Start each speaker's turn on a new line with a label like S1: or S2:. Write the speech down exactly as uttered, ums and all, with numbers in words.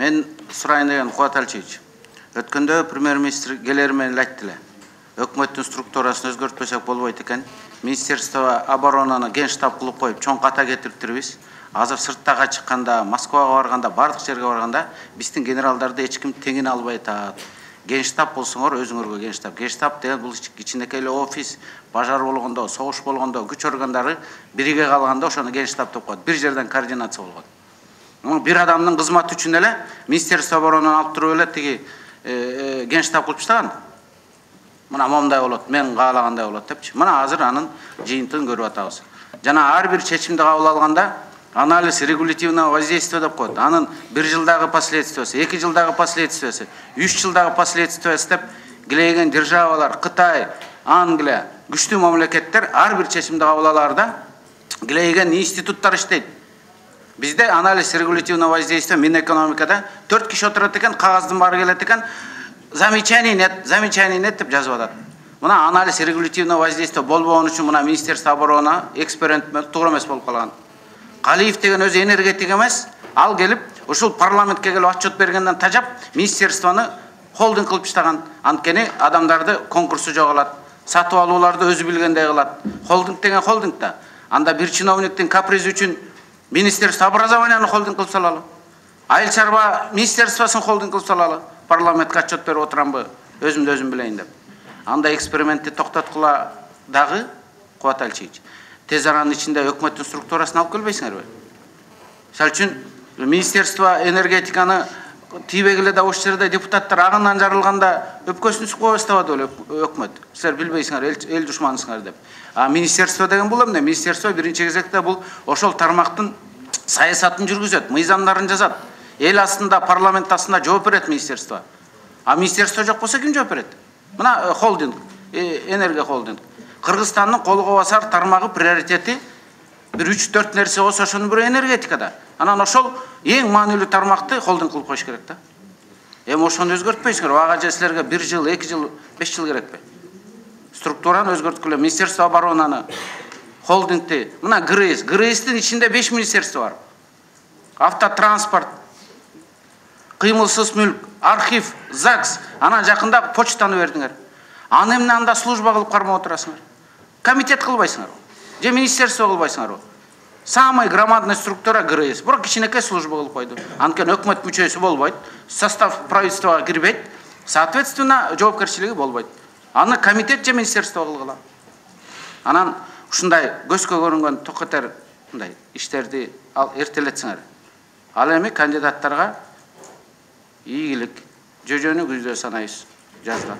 S1: Мен сурайын деген Кубат Алчевич. Өткөндө премьер-министр келер менен айтты эле. Өкмөттүн структурасын өзгөртпөсөк болбойт экен. Министерство оборонаны генштаб кылып коюп, чоң ката кетириптирбиз. Азыр сырттага чыкканда, Москвага барганда, бардык жерге барганда биздин генералдарды эч ким теңине албай атат. Генштаб болсоңор өзүңөргө генштаб. Генштаб деген бул кичинекей эле офис, бажар болгондо, согуш болгондо, күч органдары бириге калганда ошону генштаб деп коет. Бир жерден координация болгон. Бир адамдын кызматы үчүн эле Министерство оборонаны алып туруп эле тиги генштаб кылып таштаган. Мына момундай болот, мен каалагандай болот депчи. Мына азыр анын жыйынтыгын көрүп атабыз. Жана ар бир чечимди кабыл алганда анализ регулятивного воздействия деп коет. Анын бир жылдагы последствиясы, эки жылдагы последствиясы, үч жылдагы последствиясы деп килейген державалар, Кытай, Англия, күчтүү мамлекеттер ар бир чечимди кабыл алаарда килейген институттар иштейт. Бизде анализ регулятивного воздействия Минэкономикада төрт киши отурат экен, кагаздын баары келет экен, замечание нет, замечание нет деп жазып атат. Мына анализ регулятивного воздействия болбогон үчүн мына Министерство обороны эксперимент туура эмес болуп калган. Калиев деген өзү энергетик эмес, ал келип ушул парламентке келип отчет бергенден тажап министерствону холдинг кылып таштаган. Анткени адамдарды конкурсу жоголат, сатып алууларды өзү билгендей кылат. Холдинг деген холдинг да. Анда бир чиновниктин капризи үчүн Министерство образованияны холдинг кылып салалы. Айыл чарба министерствосын холдинг кылып салалы. Парламентке отчет берип отурамбы, өзүмдү өзүм билейин деп. Анда экспериментти токтоткула дагы Кубат Алчевич. Тез аранын ичинде өкмөттүн структурасын алып келбейсиңерби? Мисалы үчүн Министерство энергетиканы тийбегиле да ошол жерде депутаттар агынан жарылганда өпкөсүн сүп кое баштабады беле өкмөт. Силер билбейсиңер, эл душманысыңар деп. А министерство деген бул эмне? Министерство биринчи кезекте бул ошол тармактын саясатын жүргүзөт, мыйзамдарын жазат. Эл астында, парламент астында жооп берет министерство. А министерство жок болсо ким жооп берет? Мына холдинг, энергия холдинг. Кыргызстандын колго басар тармагы приоритети бир үч төрт нерсе болсо ошонун бири энергетикада. Анан ошол эң маанилүү тармакты холдинг кылып коюш керек да. Эми ошону өзгөртпөйсүңөр. Ага же силерге бир жыл, эки жыл, беш жыл керекпи? Структураны өзгөрткүлө, Министерство оборонаны, холдингти, мына ГРЭС, ГРЭСтин ичинде беш министерство бар. Автотранспорт, кыймылсыз мүлк, архив, ЗАГС, анан жакында почтаны бердиңер. Аны эмне анда служба кылып кармап отурасыңар? Комитет кылбайсыңар. Же министерство кылбайсыңар. Самый громадный структура ГРЭС. Бирок кичинекей служба кылып койду. Анткени өкмөт мүчөсү болбойт, состав правительствого кирбейт, соответственно, жоопкерчилиги болбойт. Аны комитет же министерство кылгыла. Анан ушундай көзгө көрүнгөн токотер мындай иштерди ал эртелетсиңер. Ал эми кандидаттарга ийгилик, жөжөнү күздө санайбыз жазда.